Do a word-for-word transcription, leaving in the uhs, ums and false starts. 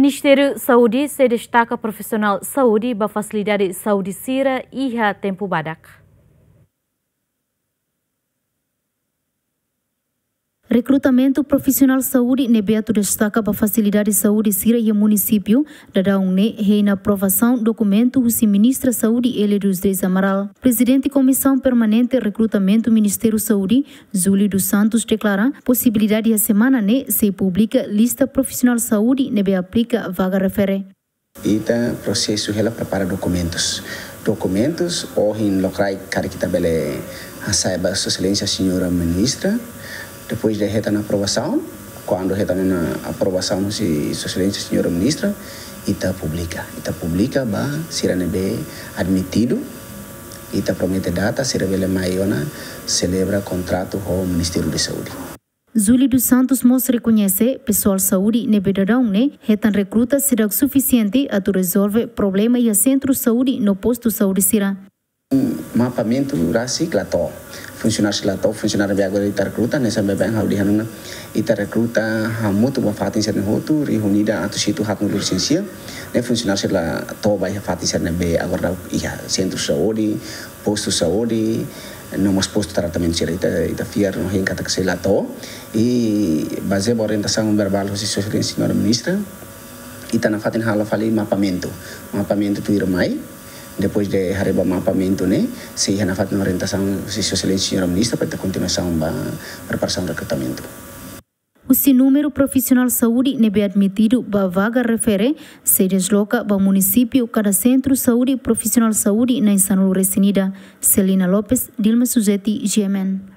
Ministériu Saúde sei destaka profisionál saúde ba fasilidade saúde sira iha tempu badak. Rekrutamentu profisionál saúde ne'ebé atu destaka ba fasilidade saúde sira iha munisípiu, daudaun ne'e hein aprovasaun dokumentu husi Ministra Saúde Élia dos Reis Amaral. Prezidente Komisaun Permanente Rekrutamentu Ministériu Saúde, Júlio dos Santos, deklara posibilidade iha semana ne'e sei publika lista profisionál saúde ne'ebé aplika vaga refere. Ita prosesu hela prepara dokumentus. Dokumentus ohin lokraik karik ita bele hasai ba Sua Exelénsia Señora Ministra. Depois de hetan aprovasaun, kuandu hetan ona aprovasaun husi Sua Exelénsia Señora Ministra, ita publika. Ita publika ba sira ne'ebé admitidu. Ita promete data sira bele mai ona selebra kontratu ho Ministériu Saúde. Júlio dos Santos mós rekoñese pesoál saúde ne'ebé daudaun ne'e hetan rekruta seidauk sufisiente atu rezolve problema iha sentru saúde no postu saúde sira. Mapamentu rasik la to'o. Funsionáriu sira la to'o, funsionáriu ne'ebé agora ita rekruta, hanesan baibain ha'u dehan ona, ita rekruta hamutuk ba fatin sira-ne'e hotu, riunida atus hitu haatnulu resin sia. Ne'e funsionáriu sira la to'o ba iha fatin sira ne'ebé agora daudaun iha sentru saúde, postu saúde, no mós postu tratamentu sira, ita, ita fiar no hein katak sei la to'o. I bazeia ba orientasaun verbál husi Sua Exelénsia Señora Ministra, ita nafatin halo fali mapamentu. Mapamentu tuirmai, depois de haree ba mapamentu ne'e, sei iha nafatin orientasaun husi Sua Exelénsia Señora Ministra para ita kontinuasaun ba preparasaun rekrutamentu. Husi númeru profisionál saúde ne'ebé admitidu ba vaga refere, sei desloka ba munisípiu kada sentru saúde profisionál saúde na'in sanulu resin ida. Celina Lopes, Dilma Suzeti, G M N.